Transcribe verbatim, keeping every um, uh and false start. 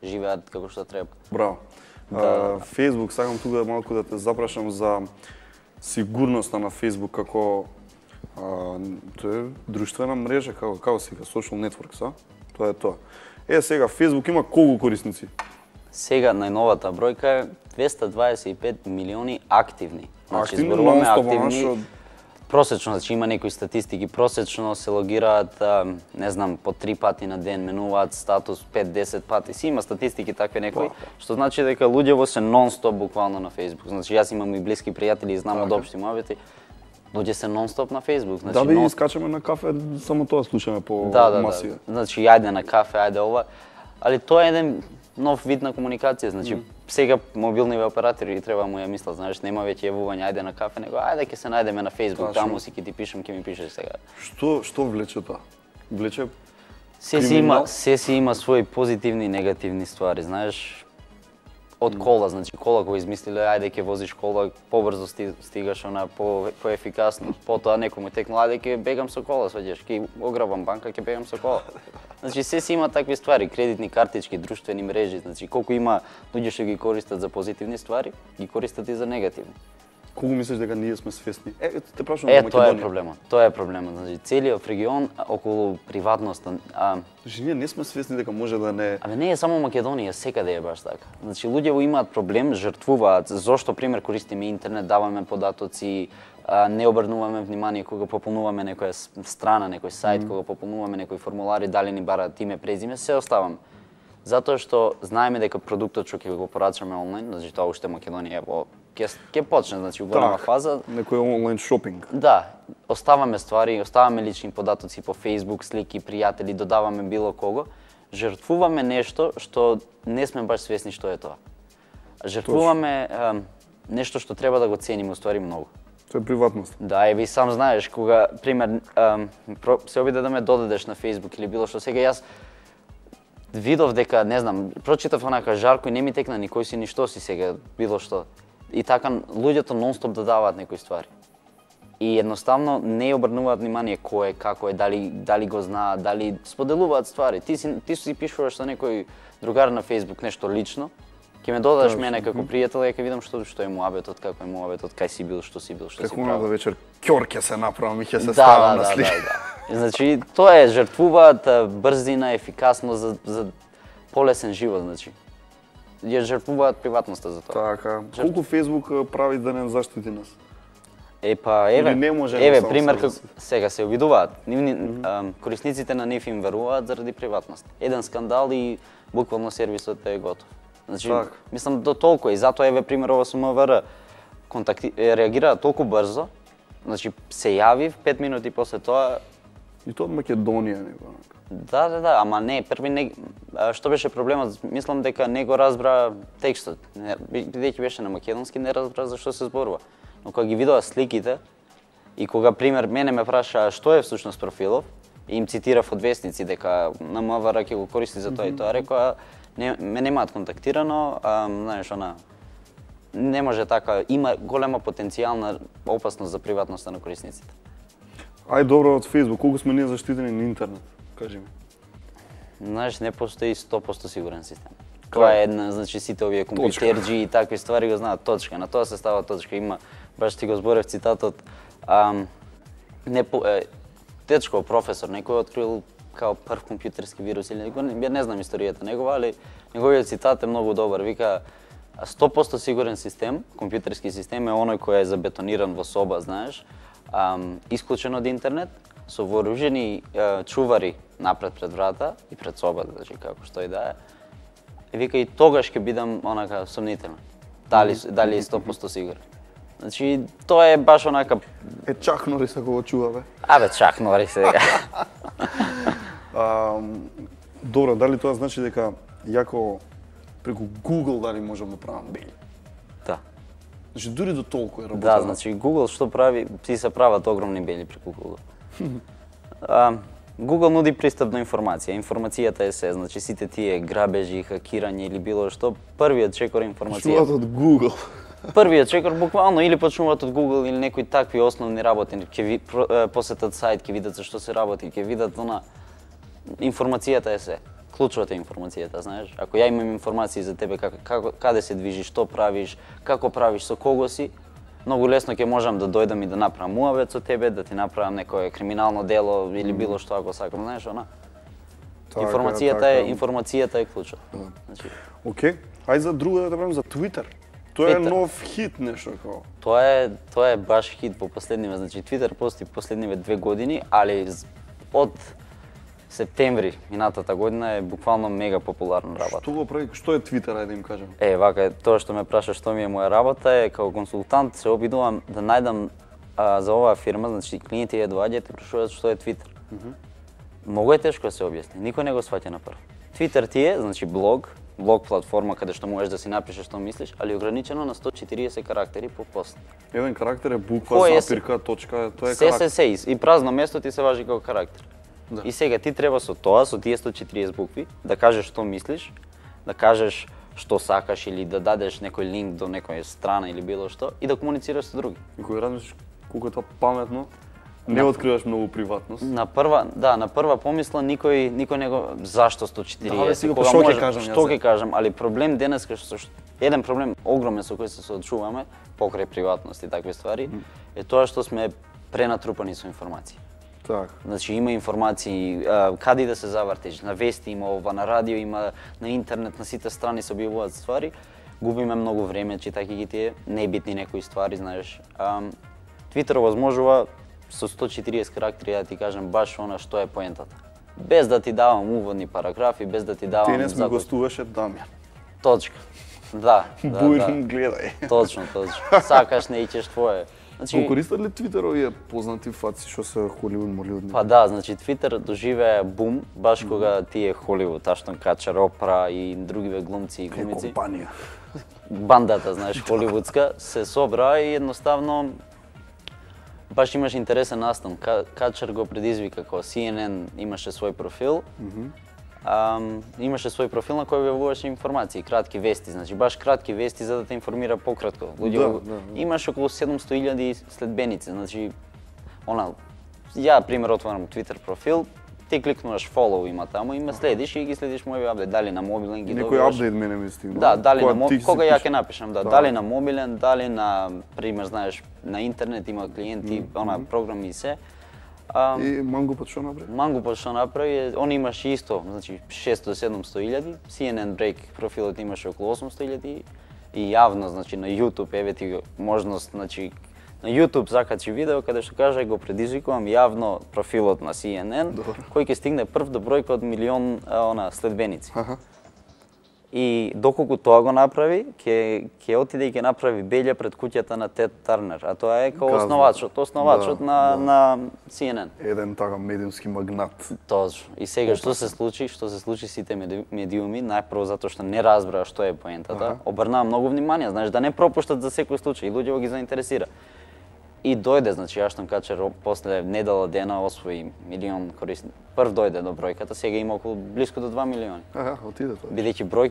живеат како што треба. Браво. Да. Facebook, сакам тука малку да те запрашам за сигурноста на Facebook како а, тоа е друштвена мрежа, како како сега social networks, а? Тоа е тоа. Е, сега Facebook има колку корисници? Сега најновата бројка е двеста дваесет и пет милиони активни. Значи активни, зборуваме нон-стоп, активни. шо... Просечно, значи има некои статистики, просечно се логираат, не знам, по три пати на ден, менуваат статус пет-десет пати. Си има статистики такви некои, што значи дека луѓево се нон-стоп буквално на Facebook. Значи јас имам и блиски пријатели и знам од општи муабети. Луѓе се нон-стоп на Facebook. Значи, да, бе, нон... искачаме на кафе, само тоа слушаме по да, да, масија. Да. Значи, ајде на кафе, ајде ова. Али тоа е еден нов вид на комуникација, значи, mm. сега мобилниве оператори треба му ја мислат, знаеш, нема веќе јавување ајде на кафе, него ајде ќе се најдеме на Facebook, таму си ќе ти пишам, ќе ми пишеш сега. Што што влече тоа? Влече се си има, се си има своји позитивни и негативни ствари, знаеш. Од кола, значи кола кој измислиле, ајде ќе возиш кола, побрзо стигаш она по поефикасно, потоа некој му текнал, ајде ќе бегам со кола, сваѓаш, ќе ограбам банка, ќе бегам со кола. Значи се си има такви ствари, кредитни картички, друштвени мрежи, значи колку има луѓе што ги користат за позитивни ствари, ги користат и за негативни. Колку мислиш дека ние сме свесни? Е, те прашувам е, за Македонија. Е, тоа е проблемот. Тоа е проблемот. Значи целиот регион околу приватноста. А... Значи ние не сме свесни дека може да не. Абе не е само Македонија, секаде е баш така. Значи луѓето имаат проблем, жртвуваат зошто пример користиме интернет, даваме податоци, а, не обрнуваме внимание кога пополнуваме некоја страна, некој сајт, mm. кога пополнуваме некои формулари, дали ни бараат име, презиме, се оставаме. Затоа што знаеме дека продуктот што ќе го порачаме онлайн, значи тоа уште Македонија во ќе ќе почне, значи у голема фаза. Некој онлайн шопинг. Да, оставаме ствари, оставаме лични податоци по Facebook, слики, пријатели, додаваме било кого, жртвуваме нешто што не сме баш свесни што е тоа. Жртвуваме е, нешто што треба да го цениме уствари многу. Тоа е приватност. Да, еве и сам знаеш кога пример е, се обиде да ме додадеш на Facebook или било што, сега јас видов дека, не знам, прочитав онака жарко и не ми текна ни кој си ни што си сега, било што. И така луѓето нон-стоп додаваат некои ствари. И едноставно не обрнуваат внимание кој е, како е, дали дали го знаат, дали споделуваат ствари. Ти си ти си пишуваш со некој другар на Facebook нешто лично, ќе ме додадеш Точно. мене како пријател и ќе видам што што е муабетот, како е муабетот, кај си бил, што си бил, што како си правил. Како вечер ќор ќе се направам и ќе се да, ставам да, на слика. Да, да, да. Значи тоа е жртвуваат брзина, ефикасно за за полесен живот, значи. Ја жртвуваат приватноста за тоа. Така. Колку Facebook прави да не заштити нас? Е па еве, не може еве пример како сега се обидуваат. Нивни mm -hmm. корисниците на нив им веруваат заради приватност. Еден скандал и буквално сервисот е готов. Значи, так. Мислам до толку и затоа еве пример ова со МВР контакти реагира толку брзо. Значи се јавив пет минути после тоа и тоа од Македонија него. Да, да, да, ама не, први не што беше проблемот, мислам дека не го разбра текстот. Бидејќи беше на македонски, не разбра за што се зборува. Но кога ги видоа сликите и кога пример мене ме праша што е всушност профилов, и им цитирав од вестници дека на МВР ќе го користи за тоа mm -hmm. и тоа, рекоа не ме немаат контактирано, а, знаеш она не може така, има голема потенцијална опасност за приватноста на корисниците. Ај добро од Facebook, колку сме ние заштитени на интернет? Кажи ми. Знаеш, не постои сто проценти сигурен систем. Тоа е една, значи сите овие компјутерџи и такви ствари го знаат точка, на тоа се става точка. Има, баш ти го зборев цитатот, ам, не по, е, дечко професор, некој открил као прв компјутерски вирус или некој, не знам историјата негова, али неговиот цитат е многу добар. Вика, сто проценти сигурен систем, компјутерски систем е оној кој е забетониран во соба, знаеш, ам, исклучен од интернет, со вооружени е, чувари напред пред врата и пред собата, значи како што и да е. И вика и тогаш ќе бидам онака сомнителен. Дали дали е сто проценти сигурен. Значи тоа е баш онака е Чак Норис ако го чува бе. Абе Чак Норис сега. а, добро, дали тоа значи дека јако преку Google дали можам да правам бели? Да. Значи дури до толку е работа. Да, значи Google што прави, си се прават огромни бели преку Google. а, Google нуди пристап до информација. Информацијата е се, значи сите тие грабежи, хакирање или било што, првиот чекор информација. Почнуваат од Google. Првиот чекор буквално или почнуваат од Google или некои такви основни работи, ќе ви посетат сајт, ќе видат за што се работи, ќе видат она информацијата е се. клучот е информацијата, знаеш. Ако ја имам информации за тебе како, како каде се движиш, што правиш, како правиш, со кого си, многу лесно ќе можам да дојдам и да направам муавет со тебе, да ти направам некое криминално дело или било што ако сакам, знаеш, она. Така, информацијата така... е информацијата е клучот. Да. Значи, океј, ајде за друго да правим за Твитер. Тоа е нов хит нешто како. Тоа е тоа е баш хит по последниве, значи Твитер постои последниве две години, али од септември минатата година е буквално мега популарна работа. Што го прави? Што е Твитер, ајде да им кажам? Е, вака, тоа што ме праша што ми е моја работа е како консултант се обидувам да најдам а, за оваа фирма, значи клиенти ја доаѓаат и прашуваат што е Твитер. Mm -hmm. Многу е тешко да се објасни, никој не го сваќа на прв. Твитер ти е, значи блог, блог платформа каде што можеш да си напишеш што мислиш, али ограничено на сто и четириесет карактери по пост. Еден карактер е буква, запирка, точка, тоа е се, карактер. Се, се, и празно место ти се важи како карактер. Да. И сега ти треба со тоа, со тие сто и четириесет букви, да кажеш што мислиш, да кажеш што сакаш или да дадеш некој линк до некоја страна или било што и да комуницираш со други. И кога размислиш колку е тоа паметно, не на, откриваш многу приватност. На прва, да, на прва помисла никој никој не го зашто сто и четириесет. Да, сега што ќе кажам, што ќе кажам, али проблем денеска што еден проблем огромен со кој се соочуваме покрај приватност и такви ствари mm. е тоа што сме пренатрупани со информации. Так. Значи има информации каде да се завртиш, на вести има ова, на радио има, на интернет, на сите страни се објавуваат ствари. Губиме многу време читајќи ги тие небитни некои ствари, знаеш. Твитер овозможува со сто и четириесет карактери да ти кажам баш она што е поентата. Без да ти давам уводни параграфи, без да ти давам... Денес ми гостуваше Дамјан. Точка. Да, да, Бујрн, да. гледај. Точно, точно. Сакаш, не ичеш твое. Значи... Го користат ли Твитер овие познати фаци што се Холивуд, Моливуд? Па да, значи Твитер доживее бум баш кога тие Холивуд, Аштон Качер, Опра и другиве глумци и глумици. Компанија. Бандата, знаеш, холивудска, се собра и едноставно баш имаш интересен настан. Качер го предизвика како Си Ен Ен имаше свој профил. Mm -hmm. Um, имаше свој профил на кој објавуваше информации, кратки вести, значи баш кратки вести за да те информира пократко. Луѓе, да, да, да. Имаш околу седумсто илјади следбеници, значи она ја пример отварам Твитер профил, ти кликнуваш follow има таму и ме следиш и ги следиш мој апдейт, дали на мобилен ги добиваш. Некој апдейт мене ми стигна. Да, дали на мобилен, кога ја ќе напишам, да, да, дали на мобилен, дали на пример знаеш на интернет има клиенти, mm -hmm. она програми и се. А, и Мангупот што направи? Мангупот што направи, он имаше исто, значи шестоста до седумсто илјади, Си Ен Ен Break профилот имаше околу осумсто илјади и јавно, значи на YouTube еве ти можност, значи на YouTube закачи видео каде што каже го предизвикувам јавно профилот на Си Ен Ен кој ќе стигне прв до бројка од милион она следбеници. Аха. И доколку тоа го направи, ќе ќе отиде и ќе направи белја пред куќата на Тед Тарнер, а тоа е како основачот, основачот да, на да. на Си Ен Ен. Еден така медиумски магнат. Точно. И сега што се случи, што се случи сите медиуми, најпрво затоа што не разбраа што е поентата, ага. обрнаа многу внимание, знаеш, да не пропуштат за секој случај, луѓе ги заинтересира. И дојде, значи Аштон Качер после недела дена освои милион корисни. Прв дојде до бројката, сега има околу блиску до два милиони. Аха, отиде тоа. Бидејќи број